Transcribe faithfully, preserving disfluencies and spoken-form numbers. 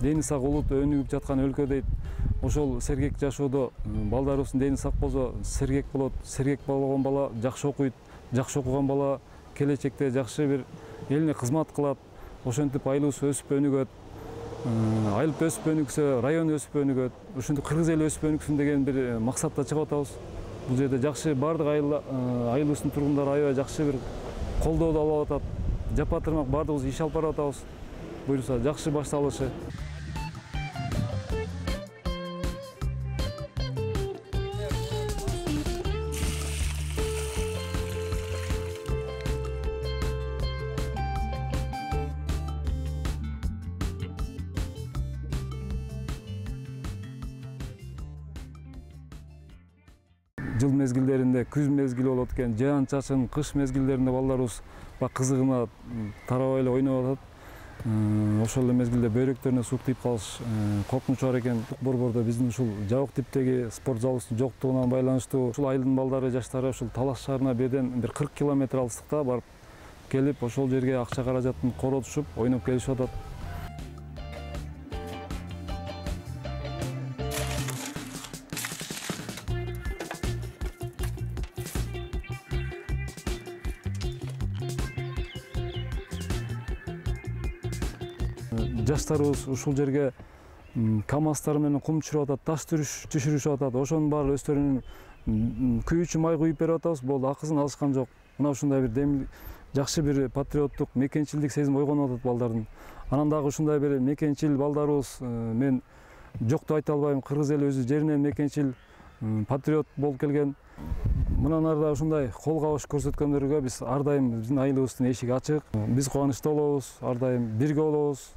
дени сак улут өнүгүп жаткан өлкө дейт. Ошол сергек жашоодо балдарыбыздын дени сак болсо сергек болот. Сергек болгон бала жакшы окуйт. Жакшы окуган бала келечекте жакшы бир элине кызмат кылат. Ошентип айлыбыз өсүп өнүгөт. Айылып өсүп өнүксө, район өсүп өнүгөт. Ошентип кыргыз эли өсүп өнүксүн деген бир максатта чыгып атабыз. Бул жерде жакшы бардык айылыбыздын тургундары аябай жакшы бир колдоодо алып атат. Жапа тырмак бардыгыбыз иш алып барып атабыз. Буюрса жакшы башталышы. Жыл мезгилдеринде күз мезгили болот экен, жаан чачын, кыш мезгилдеринде балдарыбыз кызыгына тарабай эле ойноп атат. Ошол эле мезгилде бөйрөктөрүнө суук тийип калыш коркунучу бар экен. Борбордо биздин ушул жабык типтеги спорт залыбыздын жоктугуна байланыштуу ушул айылдын балдары, жаштары ушул Талас шаарына беден бир кырк километр алыстыкта барып келип, ошол жерге акча каражатын коротушуп, ойноп келишип атат. Жаштарыбыз ушул жерге камаздар менен кум түшүрүп атат, таш түшүрүшүп атат. Ошонун баары өздөрүнүн күйүүчү май куюп берип атабыз. Болду, акысын алышкан жок. Мына ушундай бир дем жакшы бир патриоттук, мекенчилдик сезим ойгонуп атат балдардын. Анан дагы ушундай бир мекенчил балдарыбыз, мен жокту айта албайм, кыргыз эли өзү жеринен мекенчил, патриот болуп келген. Мындан ары да ушундай кол кабыш көрсөткөндөргө биз ар дайым биздин айылыбыздын эшиги ачык. Биз кубанычта болобуз, ар дайым бирге болобуз.